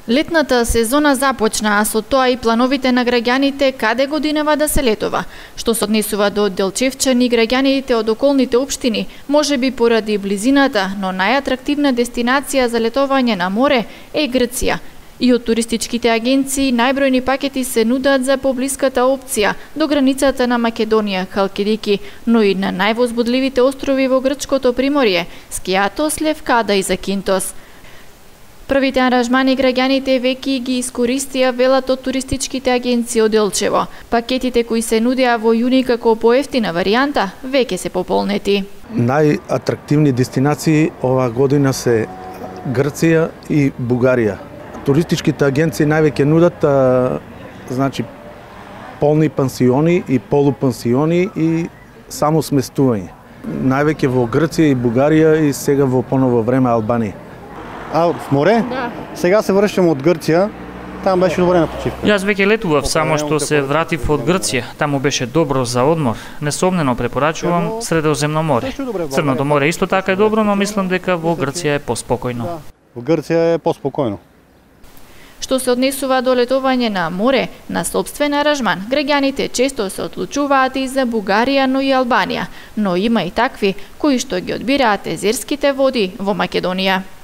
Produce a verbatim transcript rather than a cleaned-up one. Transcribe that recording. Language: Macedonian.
Летната сезона започна, а со тоа и плановите на граѓаните каде годинава да се летува. Што се однесува до Делчевчани, граѓаните од околните општини, можеби поради близината, но најатрактивна дестинација за летување на море е Грција. И од туристичките агенции најбројни пакети се нудат за поблиската опција до границата на Македонија, Халкидики, но и на највозбудливите острови во грчкото приморје, Скијатос, Левкада и Закинтос. Првите аранжмани граѓаните веќе ги искористија, велат од туристичките агенции од Делчево. Пакетите кои се нудеа во јуни како поевтина варијанта веќе се пополнети. Најатрактивни дестинации оваа година се Грција и Бугарија. Туристичките агенции највеќе нудат а, значи полни пансиони и полупансиони и само сместување. Највеќе во Грција и Бугарија и сега во поново време Албанија. А в море? Да. Сега се вршам од Грција. Там беше добре на почивка. Јас веќе летував, само што се вратив од Грција. Таму беше добро за одмор. Несомнено препорачувам Средоземно море. Црното море исто така е добро, но мислам дека во Грција е поспокојно. Во Грција е поспокојно. Што се однесува до летување на море, на сопствен аранжман, граѓаните често се одлучуваат и за Бугарија, но и Албанија, но има и такви кои што ги одбираат езерските води во Македонија.